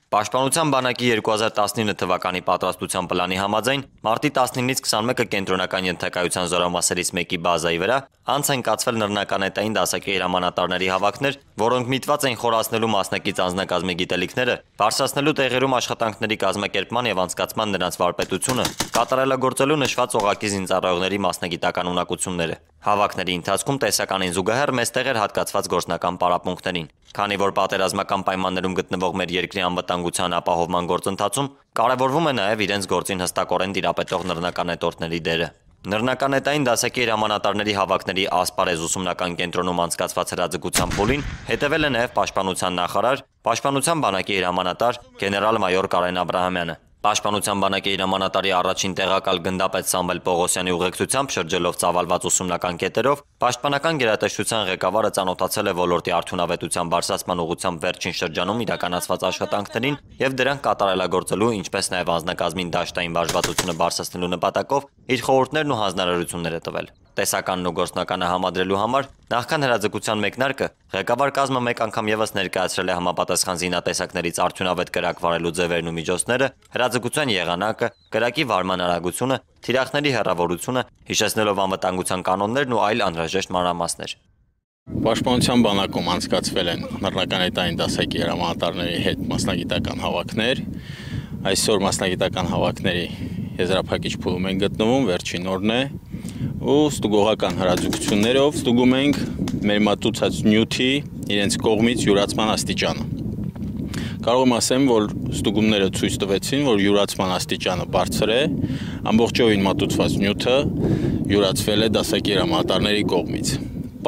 Պաշտպանության բանակի 2019 թվականի պատրաստության պլանի համաձայն մարտի 19-ից 21-ը կենտրոնական ենթակայության զորամասերից մեկի բազայի վրա անց են կացվել նռնականետային դասակի հրամանատարների հավաքներ, որոնք միտված են խորացնելու մասնակից անձնակազմի գիտելիքները, բարձրացնելու տեղերում աշխատանքների կազմակերպման եւ անցկացման նրանց վարպետությունը, կատարելագործելու նշված օղակի զինծառայողների մասնագիտական ունակությունները։ Հավաքների ընթացքում տեսականին զուգահեռ մեծ էր հատկացված գործնական պարապմունքներին, քանի որ պատերազմական պայմաններում գտնվող մեր երկրի անվտանգության ապահովման գործընթացում կարևորվում է նաև իրենց գործին հստակորեն տիրապետող նռնականետորդների դերը։ Նռնականետային դասակի հրամանատարների հավաքների ասպարեզ ուսումնական կենտրոնում անցկացված հրաձգության փուլին հետևել է նաև պաշտպանության նախարար, պաշտպանության բանակի հրամանատար գեներալ-մայոր Կարեն Աբրահամյանը։ Պաշտպանության բանակի հրամանատարի առաջին տեղակալ գնդապետ Սամվել Պողոսյանի ուղեկցությամբ շրջելով ծավալված ուսումնական կետերով, պաշտպանական գերատեսչության ղեկավարը ծանոթացել է ոլորտի արդյունավետության բարձրացման ուղղությամբ վերջին շրջանում իրականացված աշխատանքներին եւ դրանք կատարելագործելու, ինչպես նաեւ անձնակազմին դաշտային վարժվածությունը բարձրացնելու նպատակով իր խորհուրդներն ու հանձնարարություններ է տվել։ Տեսականն ու գործնականը համադրելու համար նախքան հրաձգության մեկնարկը ղեկավար կազմը մեկ անգամ եւս ներկայացրել է համապատասխան զինատեսակներից արդյունավետ կրակ վարելու ձևերն ու միջոցները, հրաձգության եղանակը, կրակի վարման արագությունը, թիրախների հեռավորությունը, հիշեցնելով անվտանգության կանոններն ու այլ անհրաժեշտ մանրամասներ։ Պաշտպանության բանակում անցկացվել են նռնականետային դասակի հրամանատարների հետ մասնագիտական հավաքներ։ Այսօր մասնագիտական հավաքների եզրափակիչ փուլում են գտնվում, վերջին օրն է, ու ստուգողական հրաձգություններով ստուգում ենք մեր մատուցած նյութի իրենց կողմից յուրացման աստիճանը։ Կարող եմ ասեմ, որ ստուգումները ցույց տվեցին, որ յուրացման աստիճանը բարձր է, ամբողջովին մատուցված նյութը յուրացվել է դասակի հրամանատարների կողմից։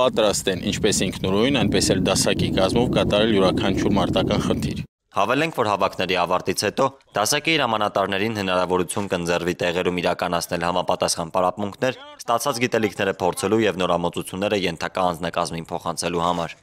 Պատրաստ են ինչպես ինքնուրույն, այնպես էլ դասակի կազմով կատարել յուրաքանչյուր մարտական խնդիր։ Հավելենք, որ հավաքների ավարտից հետո դասակի հրամանատարներին հնարավորություն կընձեռվի տեղերում իրականացնել համապատասխան պարապմունքներ, ստացած գիտելիքները փորձելու եւ նորամուծությունները ենթակա անձնակազմին փոխանցելու համար։